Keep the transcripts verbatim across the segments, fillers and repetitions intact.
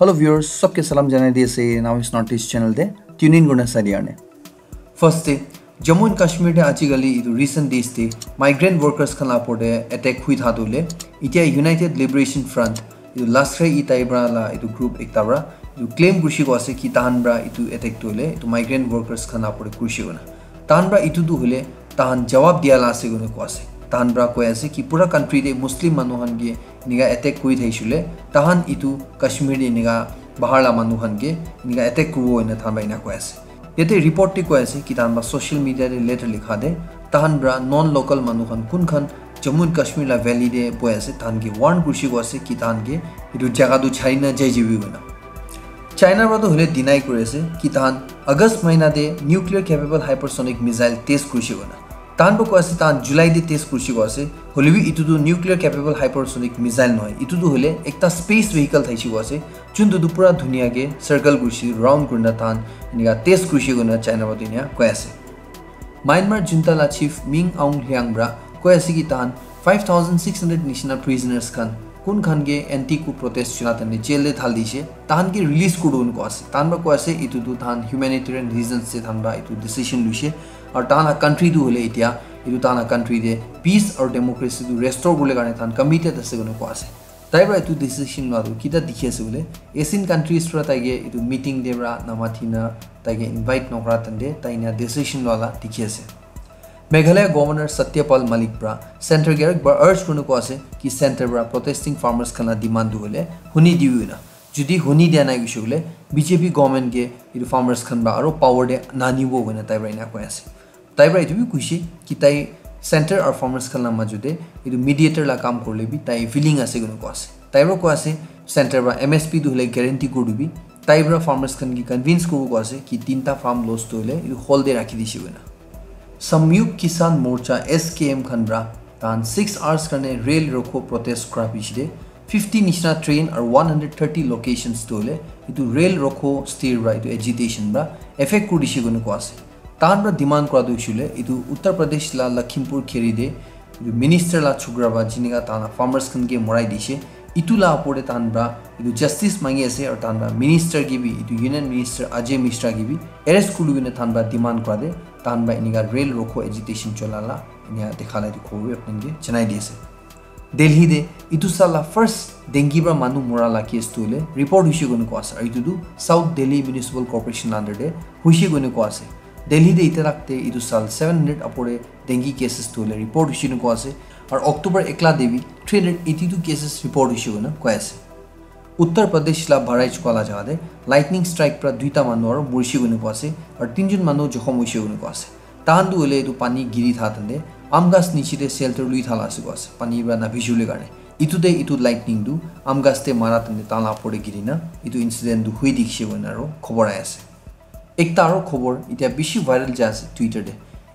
Hello viewers, sabke salam janai di ase Now is Northeast channel te tune in kurna sai di karne. First te, Jammu and Kashmir te ajikali etu recent days te migrant workers khan la upor te attack hui tha tu le, itia United Liberation Front, etu Lashkar-e-Taiba la etu group ekta pra etu claim kurishi ko ase ki tahan pra etu attack tu le etu migrant workers khan la upor te kurishi kona. Tahan pra etu tu hule tahan jawab dia la ase kona ko ase. Tahan pra koi ase ki pura country te Muslim manu khan ke enika attack kuri thaishe le, tahan etu Kashmir te enika bahar la manu khan ke enika attack kuribo ena tahan pra ena koi ase. Yate report te koi ase ki tahan pra social media te letter likha te tahan pra non local manu khan kun khan Jammu and Kashmir la valley te boi ase, tahan ke warn kurishi ko ase ki tahan ke etu jaga tu chari na jai jibi kona. China pra tu hule deny kuri ase ki tahan August mahina te nuclear capable hypersonic missile test kurishi kona. Tahan pra koi ase tahan July te test kurishi ko ase, hoilebi etu tu nuclear capable hypersonic missile nohoi, etu tu hule ekta space vehicle thaishe ko ase, juntu tu pura dunia ke circle kurishi, round kurina tahan enika test kurishi kona China pra tu enika koi ase. Myanmar junta la chief Min Aung Hlaing pra koi ase ki tahan five thousand six hundred nishina prisoners khan kun khan ke anti coup protest chula tane jail te thal dishe, tahan ke release kuru ko ase. Tahan pra koi ase etu tu tahan humanitarian reasons se tahan pra etu decision luishe. Aru tahan la country tu hule itia etu tahan la country te peace aru democracy tu restore kurle karne tahan committed ase kona koi ase. Tai pra etu decision lua tu kita dikhi ase bole, Asian countries pra tai ke etu meeting te pra namatina tai ke invite nokra tante tai ena decision lua la dikhi ase. Meghalaya Governor Satyapal Malik pra center ke aru ekbar urge kurina koi ase ki center pra protesting farmers khan la demand tu hule huni dibi na. Jodi huni dia nai koishe bole B J P government ke etu farmers khan pra aru power te nanibo koina tai pra ena koi ase. Tai pra etu bi koishe ki tai center aru farmers khan la majo te etu mediator la kam kurle bi tai willing ase koina koi ase. Tai pra koi ase center pra M S P tu hule guarantee kuri dibi. Tai pra farmers khan ke convince kuribo koi ase ki tinta farm loss tu hule etu hold te rakhi dishe koina. Samyukt Kisan Morcha, S K M, khan pra tahan six hours karne Rel Rokho protest kura piche te fifty nishina train aru one hundred thirty locations tu hule etu Rel Rokho stir pra etu agitation pra affect kuri dishe koina koi ase. Tahan pra demand kura tu hoishe le etu Uttar Pradesh la Lakhimpur Kheri te etu minister la chokra pra jinika tahan la farmers khan ke morai dishe, etu la upor te tahan pra etu justice mangi ase aru tahan pra minister ke bi, etu union minister Ajay Mishra ke bi arrest kuri kena tahan pra demand kura te tahan pra enika Rel Rokho agitation chola la enika dekha la etu khobor bi apni khan ke janai di ase. Delhi te etu saal la first dengue pra manu mora la case tu hule report hoishe koina koi ase, aru etu tu South Delhi Municipal Corporation la under te hoishe koina koi ase. Delhi te itia tak te etu saal seven hundred upor te dengue cases tu hule report hoishe koina koi ase, aru October ekla te bi three hundred eighty two cases report hoishe koina koi ase. Uttar Pradesh la Bahraich koi la jaga te lightning strike pra duita manu aru morishe koina koi ase, aru tinjon manu jokhom hoishe koina koi ase. Tahan tu hule etu pani giri tha tante aam ghas niche te shelter lui tha la ase koi ase, pani pra na bhijule karne. Etu te etu lightning tu aam ghas te mara tante tahan la upor te giri na etu incident tu hui dikhishe koina aru khobor ahi ase. Ekta aru khobor itia bishi viral jai ase Twitter te.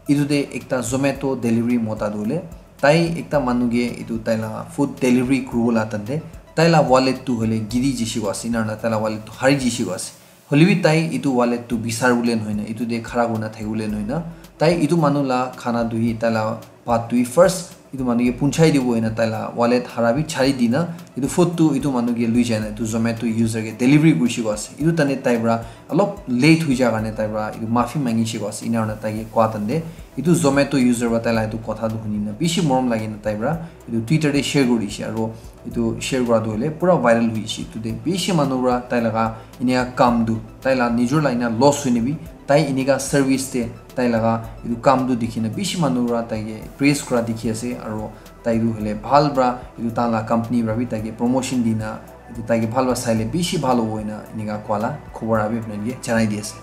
Etu te ekta Zomato delivery mota tu hule tai ekta manu ke etu tai la food delivery kuribo la tante tai la wallet tu hule giri jishe koi ase, ena na tai la wallet tu hari jishe koi ase. Hoilebi tai etu wallet tu bisar bole nohoi na, etu te khara kurina thaki bole nohoi na, tai etu manu la khana tu hi, tai la bhat tu hi first etu manu ke punchai dibo ena tai la wallet hara bi chari dina, etu food tu etu manu ke lui jai na etu Zomato user ke delivery kurishe koi ase. Etu tane tai pra olop late hui ja karne tai pra etu mafi mangishe koi ase. Ena kurna tai ke koi tande etu Zomato user pra tai la etu kotha tu huni na bishi morom lagi na tai pra etu Twitter te share kuri dishe, aru etu share kura tu hule pura viral hui dishe. Etu te bishi manu pra tai laga enika kam tu, tai la nijor la ena loss hoi na bi tai enika service te tai laga etu kam tu dikhi na bishi manu pra tai ke praise kura dikhi ase, aru tai tu hule bhal pra etu tahan la company pra bi tai ke promotion di na etu tai ke bhal pra sai le bishi bhal hobo ena enika koi la khobor abi apni khan ke janai di ase.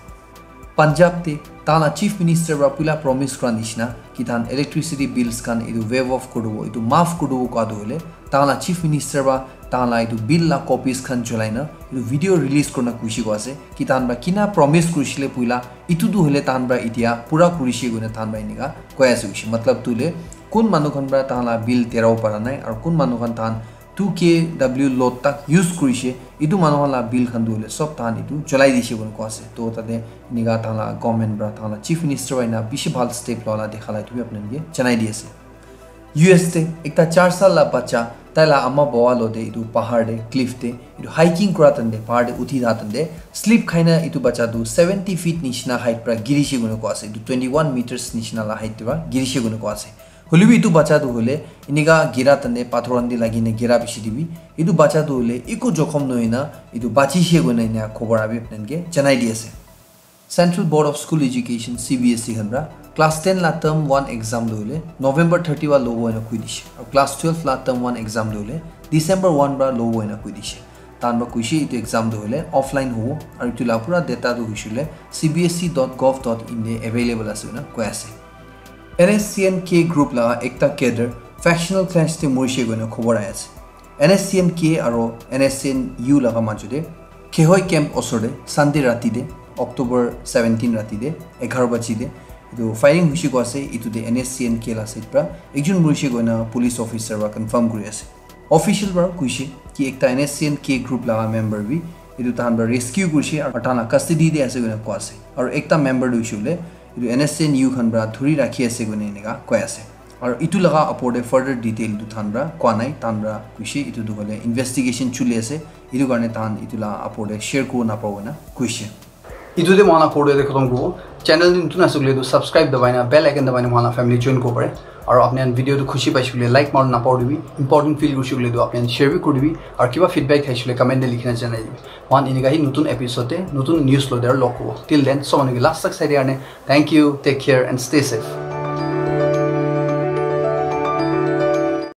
Punjab te tahan la chief minister pra puila promise kura nishina ki tahan electricity bills khan etu waive off kuri dibo, etu maaf kuri dibo koi tu hule tahan la chief minister pra tahan la etu bill la copies khan cholai na etu video release kurina koishe koi ase ki tahan pra kina promise kurishe le puila etu tu hule tahan pra itia pura kurishe koina tahan pra enika koi ase koishe. Matlab tu hule kun manu khan pra tahan la bill terabo para nai aru kun manu khan tahan two K W load tak use kurishe, etu manu khan la bill khan tu hule sob tahan etu cholai dishe koina koi ase. To tate enika tahan la government pra tahan la chief minister pra ena bishi bhal step loa la dekha la etu bi apni khan ke janai di ase. U S te ekta char saal la bacha Tai la ama bawa lo de etu pahar de, cliff de, etu hiking kura tan de, pahar de uthi tha tan de, slip khai na etu bacha tu seventy feet nishina height pra girishe koina koa ase. Etu twenty-one meters nishina la height pra girishe koina koa ase. Hoilebi etu bacha tu hoile enika gira tan de pathor khan de lagi na gira bishi de bi, etu bacha tu hoile eku jokhom nohoi na etu bachishe koina ena khobor abi apni khan ke janai di ase. Central Board of School Education, C B S E khan pra class ten la term one exam tu hoile November thirty wa lobo ena koi dishe. Aru class twelve la term one exam tu hoile December one pra lobo ena koi dishe. Tan pra koishe etu exam tu hoile offline hobo. Aru etu la pura data tu hoishe hoile C B S E dot gov dot in de available ase koina koi ase. N S C N K group la ekta cadre factional clash te morishe koina khobor ahi ase. N S C N K aro N S C N U laga majo de Khehoi camp osor de Sunday rati de, October seventeen rati de, egharo baji de etu firing hoishe koa ase. Etu de N S C N K la side pra ekjon morishe koina police officer pra confirm kuri ase. Official pra koishe ki ekta N S C N K group laga member bi etu tahan pra rescue kurishe aru tahan la custody de ase koina koa ase. Aru ekta member tu hoishe hoile etu N S C N U khan pra dhuri rakhi ase koina enika koi ase. Aru etu laga apor de further detail tu tahan pra koa nai, tahan pra koishe etu tu hoile investigation chuli ase, etu karne tahan etu la apor de share kuri napabo koina koishe. Etu de mohan la photo de khotom kubo. Channel de nutun ase koile tu subscribe dabai na bell icon dabai na mohan la family join kubo pare. Aru apni khan video tu khushi paishe koile like mara napahoribi. Important feel kurishe koile tu apni khan share bi kuri dibi. Aru kiba feedback thaishe koile comment de likhi na janai dibi. Mohan enika hi nutun episode de nutun news loi de aru log kubo. Till then, sob manu ke last tak sai de karne thank you, take care and stay safe.